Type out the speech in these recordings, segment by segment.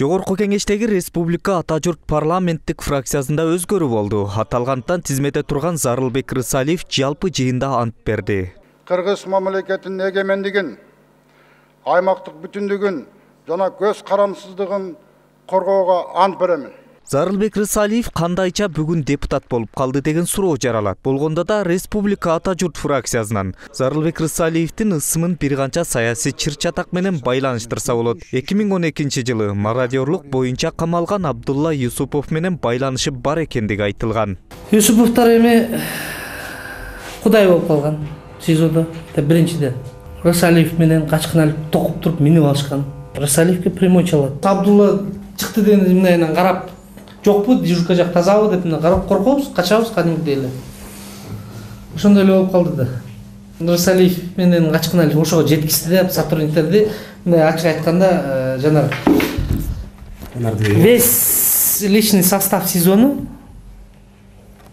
Жогорку кеңештеги Республика Ата журт парламенттик фракциясында өзгөрүү болду. Аталгантан тизмеде турган Зарылбек Рысалиев жалпы жыйында ант берди. Кыргыз мамлекетинин эгемендигин, аймактык бүтүндүгүн жана көз карамсыздыгын коргоого ант беремин. Зарылбек Рысалиев кандайча бүгүн депутат болуп калды деген суроо жаралат. Болгондо да Республика Ата журт фракциясынан Зарылбек Рысалиевдин ысымын бир канча саясий чыр-чатак менен байланыштырса болот. 2012-жылы мародёрлук боюнча камалган Абдулла Юсупов менен байланышы бар экендиги айтылган. Юсуповдор эми кудай болуп калган СИЗОдо. Биринчиден Рысалиев менен качкын алып токуп туруп минип алышкан. Рысалиевке прямой чалат. Абдулла чыкты деген мындай карап жокпу, дежурка жак тазабы деп карап коркобуз, качабыз кадимгидей эле. Ошондой эле болуп калды да. Рысалиев менен качкын алып ошого жеткизди деп сотрудниктерди мындай ачык айтканда жанагы весь личный состав СИЗОну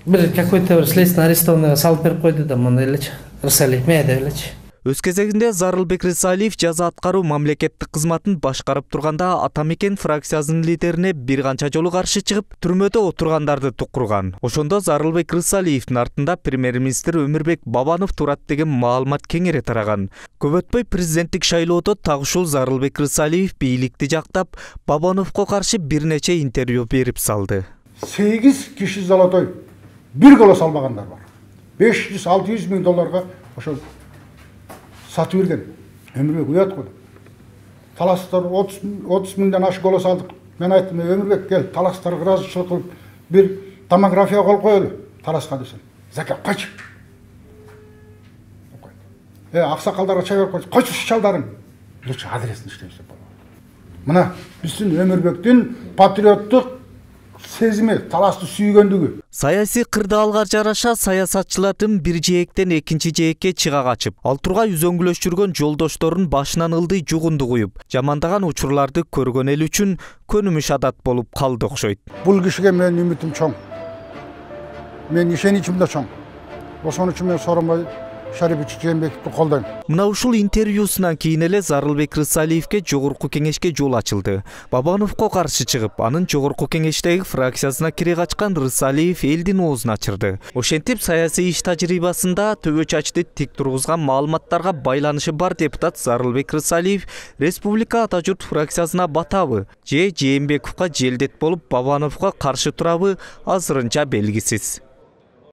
бир какой-то бир следственный арестованныйга салып берип койду да мындай элечи. Рысалиев деп элечи. Өз кезегинде Зарылбек Рысалиев жаза аткаруу мамлекеттик кызматын башкарып турганда Атамекен фракциясынын лидерине бир канча жолу каршы чыгып, түрмөдө отургандарды тукурган. Ошондо Зарылбек Рысалиевдин артында премьер-министр Өмүрбек Бабанов турат деген маалымат кеңири тараган. Көп өтпөй президенттик шайлоодо так ушул Зарылбек Рысалиев бийликти жактап, Бабановго каршы бир нече интервью берип салды. 8 киши золотой бир голос албагандар бар. 500-600 миң долларга ошол сатып берген. Өмүрбек уят койду. Таластар 30 миңден ашык голос алдык. Мен айттым, Өмүрбек кел, таластарга ыраазычылык кылып бир томография кылып коелу. Таласка десем. Зака кайчы. Аксакалдарга чай берип койчу. Койчу чалдарың. Лучше адресин иштебиз деп болду. Мына биздин Өмүрбектин патриоттук сезими, таласты сүйгөндүгү. Саясий кырдаалга жараша саясатчылардын бир жээктен экинчи жээкке чыга качып, ал тургай үзөңгүлөш жүргөн жолдошторун башынан ылдый жугунду куюп, жамандаган учурларды көргөн эл үчүн көнүмүш адат болуп калды окшойт. Бул кишиге менин үмүтүм чоң. Мен ишеничим да чоң. Ошон үчүн мен Сооронбай Шарипович Жээнбековду колдойм. Мына ушул интервьюсунан кийин эле Зарылбек Рысалиевке жогорку кеңешке жол ачылды. Бабановго каршы чыгып, анын жогорку кеңештеги фракциясына кире качкан Рысалиев элдин оозун ачырды. Ошентип саясий иш тажрыйбасында төбө чачты тик тургузган маалыматтарга байланышы бар депутат Зарылбек Рысалиев Республика Ата журт фракциясына батабы же Жээнбековго желдет болуп Бабановго каршы турабы азырынча белгисиз.